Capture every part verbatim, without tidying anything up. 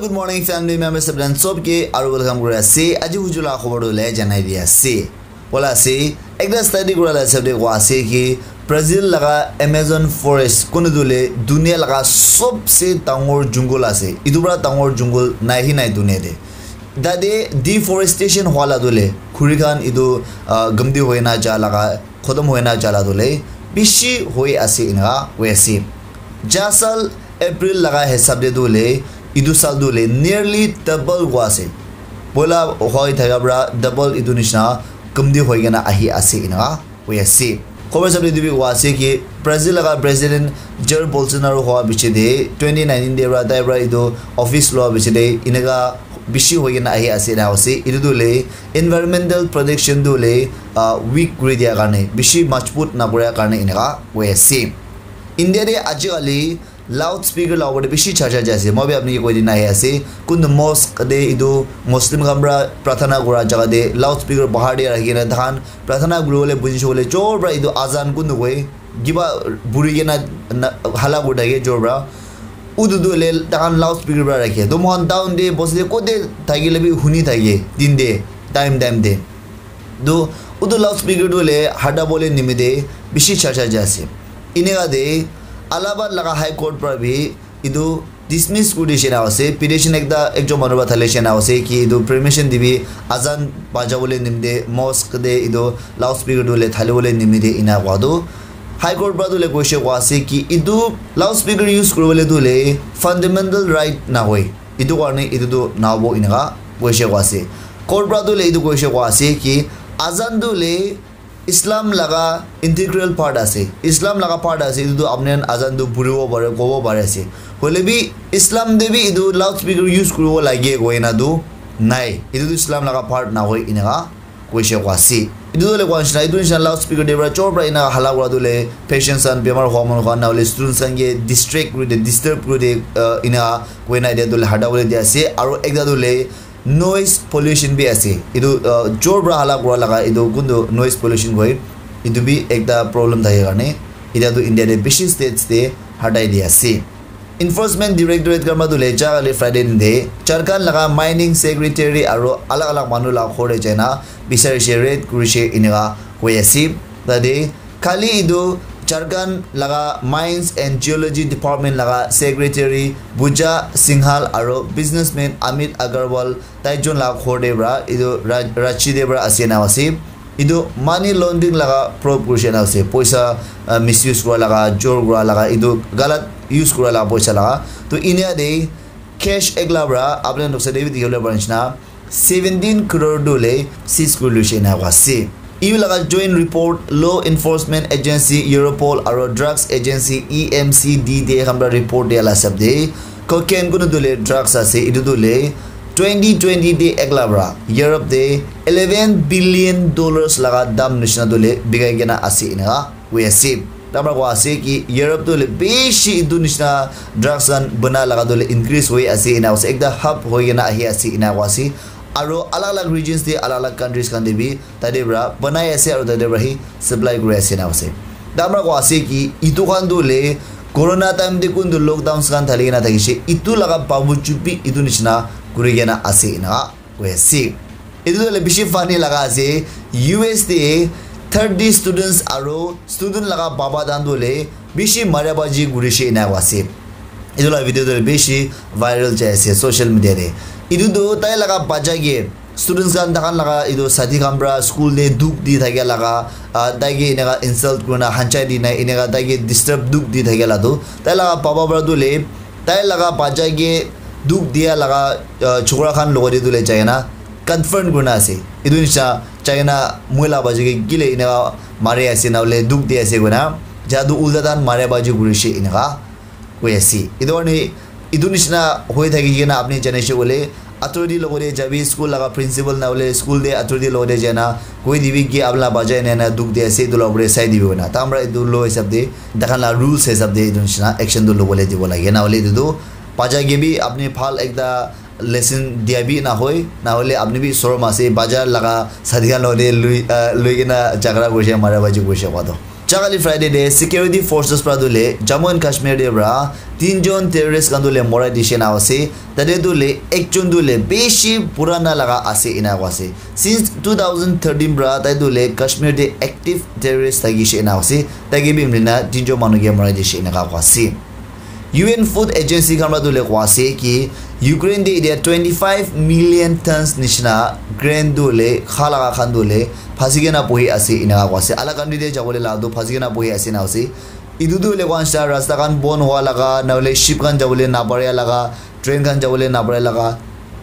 Good morning, family members, sabdan sob ke aru welcome kuri ase. Aji huju la khobor tu le janai di ase. Bola ase, ekta study kura la hisab de koa ase ki Brazil laga Amazon forest kunu tu le dunia laga sobse dangor jungle ase. Itu para dangor jungle nai hi nai dunia de. Tate deforestation hwa la tu le khuri khan itu, ah, gamdi hoi na ja laga, khotom hoi na ja la tu le bishi hoi ase inaka hoi ase. Ja sal April laga hisab de tu le itu sal tu le nearly double hua ase. Bola hoi thaka para double itu nishina gamdi hoi kena ahi ase inaka hoi ase. Khobor hisab de tu bi hua ase ki Brazil laga president Jair Bolsonaro hua biche de twenty nineteen de para tai para itu office lua biche de inaka bishi hoi kena ahi ase na ase. Itu tu le environmental protection tu le, ah, weak kuri dia karne, bishi majbut na kura karne inaka hoi ase. India de aji kali loudspeaker la opor de bishi charcha jai ase. Moi bi apni ke koi dina ahi ase. Kuntu mosque de itu Muslim khan para prathana kura jaga de loudspeaker bahar de rakhi kena takhan prathana kuri bole buji bole jor para itu azan kuntu koi kiba buri kena na- hala kuri thake jor para. Utu tu le takhan loudspeaker para rakhe. To mohan town de bosi de kote thakile bi huni thake din de time time de. Tu utu loudspeaker tu le hata bole nimite bishi charcha jai ase. Ineka de Allahabad laga High Court para bi itu dismiss kuri dishe na ase. Petition ekta ekjon manu para thali she na ase ki itu permission dibi azan baja bole nimite mosque de itu loudspeaker tu le thali bole nimite ina koa tu. High Court para tu le koishe koa ase ki itu loudspeaker use kuri bole tu le fundamental right na hoi. Itu karne itu tu nahabo inaka koishe koa ase. Court para tu le itu koishe koa ase ki azan tu le Islam laga integral part ase. Islam laga part ase. Itu tu apni khan azan tu puribo pare, kobo pare ase. Hoile bi Islam de bi itu loudspeaker use kuribo lage koina tu nai. Itu tu Islam laga part na hoi inaka koishe koa ase. Itu tu le koa nishina, itu nishina loudspeaker de para jor para ina hala kura tu le patients khan bemar hua manu khan na hole students khan ke distract kuri de, disturb kuri de, uh, ina koina dia tu le hata kuri dia ase. Aru ekta tu le noise pollution bi ase. Itu, uh, jor para hala kura laga itu kuntu noise pollution koi. Itu bi ekta problem thake karne. Ita tu India de bishi states de hatai dia ase. Enforcement Directorate khan para tu le ja kali Friday din de Jharkhand laga mining secretary aru alag alag manu laga ghor de jaina bichari she raid kuri she ineka hoi ase. Tate kali itu Jharkhand laga Mines and Geology Department laga secretary Buja Singhal aru businessman Amit Agarwal tai jon laga ghor de para itu ra- Ranchi de para ase na ase. Itu money laundering laga probe kurishe na ase. Poisa, uh, misuse kura laga, jor kura laga, itu galat use kura laga poisa laga. To India de cash ekla para apni noksa de bi dikhi bole pare nishina seventeen crore tu le seize kuri luishe na ase. E U laga joint report Law Enforcement Agency Europol aru Drugs Agency E M C D de khan para report dia la hisab de cocaine kunu tu le drugs ase itu tu le twenty twenty de ekla para Europe de eleven billion dollars laga dam nishina tu le bikai kena ase ineka hoi ase. Tamra koa ase ki Europe tu le bishi itu nishina drugs khan bana laga tu le increase hoi ase ina ase ekta hub hoi kena ahi ase ina koa ase. Aru alag alag regions de alag alag countries khan de bi tate para banai ase aru tate para hi supply kuri ase na ase. Tamra koa ase ki itu khan tu le corona time de kuntu lockdowns khan thali kena thakishe itu laga babuju bi itu nishina kuri kena ase ina koi ase. Itu tu le bishi funny laga ase. U S de thirty students aru student laga baba dan tu le bishi mara baji kurishe ina koi ase. Itu la video tu le bishi viral jai ase social media de. Itu tu tai laga bacha ke students khan takhan laga itu sathi khan pra school te dukh di thakia laga, ah, tai ke eneka insult kurina hanchai dina eneka tai ke disturb dukh di thakia la tu tai laga papa pra tu le tai laga bacha ke dukh dia laga, ah, chokra khan logot te tu le jai kena confront kurina ase. Etu nisina jai kena moi laga bacha ke kile eneka mari ase na hoile dukh di ase koina jadu ulta tahan mara baji kurishe eneka koi ase. Etu karne etu nisina hoi thaki kena apni jani se koile authority logot te jabi, school laga principal na hoile school te authority logot te jai na koi dibi ki apni laga bacha ena ena dukh di ase, etu laga upor te sai dibi koina. Tahan para etu law hisab te taikhan laga rules hisab te etu nisina action tu lobole dibo lage, na hoile etu tu bacha ke bi apni bhal ekta lesson dia bi na hoi, na hoile apni bi sorom ase, bacha laga sathi khan logot te lui, ah, lui kena jhagara kurishe, mara baji kurishe koa tu. Jakali Friday de security forces pra tu le Jammu and Kashmir de pra tinjon terrorist khan tu le morai dishe na ase. Tate tu le ekjon tu le bishi purana laga ase ena ko ase. Since two thousand thirteen pra tai tu le Kashmir de active terrorist thakishe ena ase. Tai ke bi mlina tinjon manu ke morai dishe ena ko ase. U N Food Agency khan pra tu le kwa ase ki Ukraine de itia twenty five million tons nishina grain tu le kha laga khan tu le phasi kena bohi ase ena kwa ase. Alak country de jabole la tu phasi kena bohi ase na ase. Itu tu le kwa ase rasta khan bon hua laga na le ship khan jabole na pare laga, train khan jabole na pare laga.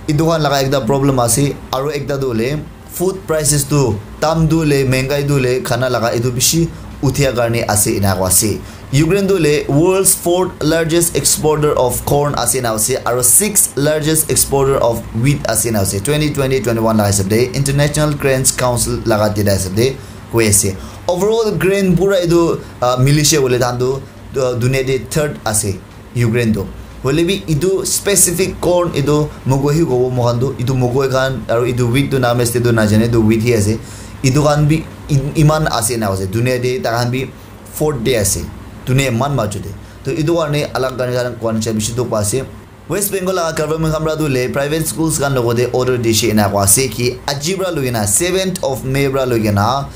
Itu khan laga ekta problem ase aru ekta tu le food prices tu dam tu le mengai tu le khana laga itu bishi uthia karne ase ena ko ase. Ukraine tu le world's fourth largest exporter of corn ase na ase aru sixth largest exporter of wheat ase na ase. Twenty twenty twenty one laga hisab de International Grains Council laga data hisab de koi ase. Overall grain pura itu uh, milishe bole than tu uh, dunia de third ase. Ukraine tu. Hoile bi itu specific corn itu mokoi hi kobo mohan tu itu mokoi khan aru itu wheat tu naam ase tu najane itu wheat hi ase. Itu khan bi iman ase na ase dunia de takhan bi fourth de ase dunia iman maju de. To itu karne alag khan khan kwan cha bishi dukh pa ase. West Bengal laga government khan pra tu le private schools khan logo de order dishe ena ko ase ki aji pra loi kena seventh of May pra loi kena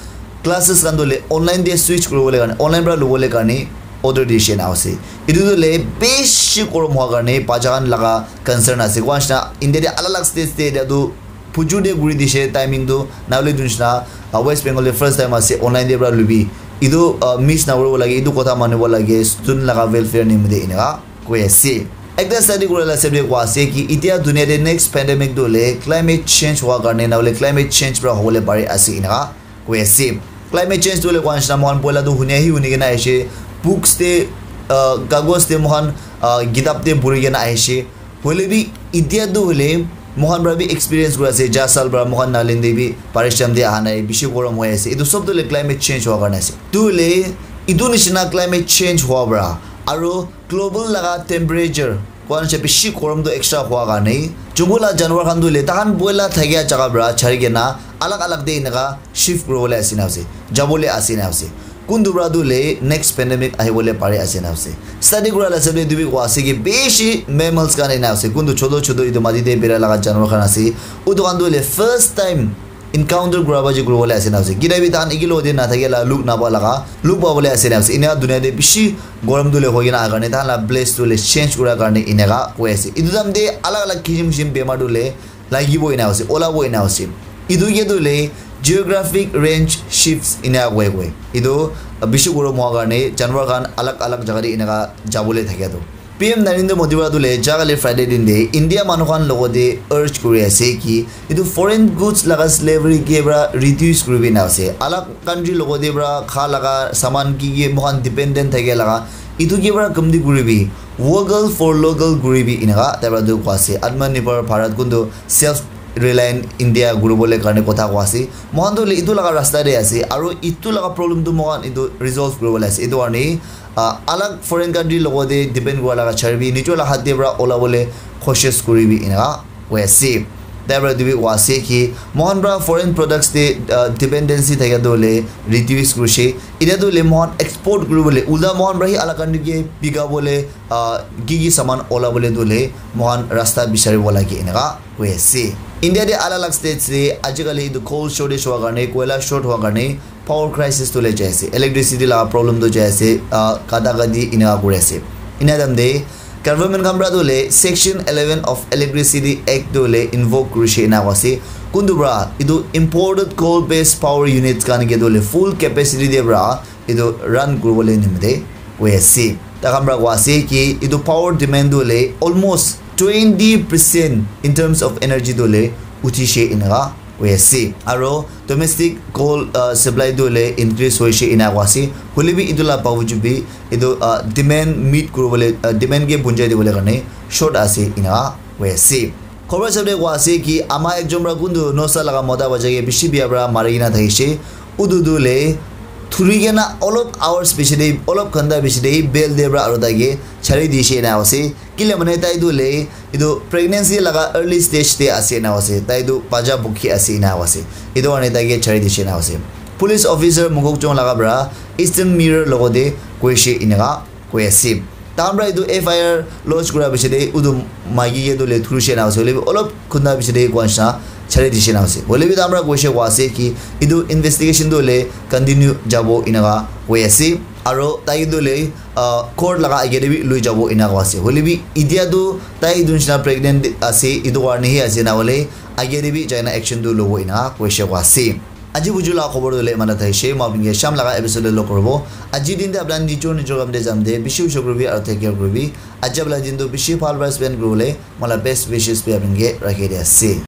classes khan tu le online de switch kuri bole karne online pra lobole karne order dishe na ase. Itu tu le bishi korom hua karne bacha khan laga concern ase. Kwa shina India de alag alag states de itu phujur de guri dishe timing tu na le dun shina uh, West Bengal de first time ase online de pra lubi itu uh, miss na kuri bo lage itu kotha mani bo lage student laga welfare nimite ena koi ase. Ekta study kuri la sabi kwa ase ki itia dunia de next pandemic tu le climate change hua karne na le climate change pra hobole pare ase ena koi ase. Climate change tu le kwa shina mohan poila tu hunia hi huni kena aise books de uh, kagos de mohan uh, kitab de puri kena aise. Hoile bi itia tu hoile mohan pra bi experience kuri ase ja sal pra mohan nalin de bi baristam de aha nai bishi gorom hoi ase. Itu sob tu le climate change hua karne ase. Tu le itu nishina climate change hua pra aru global laga temperature kwan se bishi gorom tu extra hua karne jungle la janwar khan tu le tahan boila thakia jaga pra chari kena alag alag de enaka shift kuri bole ase na ase jabole ase na ase. Kuntu pra tu le next pandemic ahi bole pare ase na ase. Study kura la sabi tu bi kwa ase ki bishi mammals khan ena ase kuntu choto choto itu mati de bera laga janwar khan ase. Utu khan tu le first time encounter kura ba ji kuri bole ase na ase. Kida bi tahan iki lo de na thake la look na pa laga look pa bole ase na ase. Ina dunia de bishi gorom tu le hoi kena aha karne tahan la place tu le change kura karne enaka koi ase. Itu time de alag alag kisim kisim bemar tu le lagibo ena ase, olabo ena ase. Itu ke tu le geographic range shifts ena koi koi. Itu bishi gorom hua karne janwar khan alag alag jaga de enaka jabole thakia tu. P M Narendra Modi para tu le jakali Friday din de India manu khan logo de urge kuri ase ki itu foreign goods laga slavery ke para reduce kuri bi na ase. Alag country logo de para kha laga saman ki ki mohan dependent thake laga itu ke para kamdi kuri bi vocal for local kuri bi enaka tai para tu koi ase. Atmanirbhar Bharat kuntu self reliant India guribole karne kotha koi ase. Mohan tu itu laga rasta de ase aru itu laga problem tu mohan itu resolve kuribole ase. Itu karne uh, alag foreign country logo de depend kura laga chari bi nijor la hat de para ola bole cautious kuri bi enaka koi ase. Tai para tu bi koi ase ki mohan para foreign products de uh, dependency thaka tu le reduce kurise. Ina tu le mohan export kuri bole ulta mohan para hi alag country ke bika bole uh, ki ki saman ola bole tu le mohan rasta bisari bo lage enaka koi ase. India de alag alag states de ajikali etu coal shortage hua karne koila short hua karne power crisis tu le jai ase. Electricity laga problem tu jai ase. Uh, kata kati enaka kuri ase. Ina time de government khan para tu le section eleven of electricity act tu le invoke kurishe ena koi ase. Kuntu para etu imported coal based power units khan ke tu le full capacity de para etu run kuribole nimite koi ase. Takhan para koi ase ki etu power demand tu hoile almost twenty percent in terms of energy tu hoile uthi she enaka koi ase. Aro domestic coal uh, supply tu hoile increase hoishe enaka koi ase. Hoile bi etu la bawjud bi etu uh, demand meet kuribole uh, demand ke punjai dibole karne short ase enaka koi ase. Khobor hisab te koa ase ki ama ekjon para kuntu nosa laga mota bacha ke bishi bia para mari kena thakishe. Utu tu le thuri kena olop hours bishi te, olop ghanta bishi te bel te para aru tai ke chari dishe ena ase. Kile mane tai tu le etu pregnancy laga early stage te ase ena ase. Tai tu bacha bukhi ase ena ase. Etu karne tai ke chari dishe ena ase. Police officer Mokokchung laga para Eastern Mirror logote koishe eneka koi ase. Tahan para etu F I R lodge kura piche te utu maiki ke tu le thuri she na ase, hoile bi olop khunda piche te koi nishina chari di she na ase. Hoile bi tahan para koishe koi ase ki etu investigation tu le continue jabo eneka koi ase. Aro tai tu le, ah, court laga age te bi lui jabo eneka koi ase. Hoile bi itia tu tai etu nishina pregnant ase, etu karne hi ase, na hoile age te bi jaina action tu lobo eneka koishe koi ase. Aji buju la khobor tu le mana thaishe, ma apni ke sham laga episode lo korobo. Aji din te apna nijor nijor kam te jam de, bishi usho kuribi aro take care kuribi. Aji apna din tu bishi bhal para spend kuribole, mala best wishes bi apni ke rakhi de ase.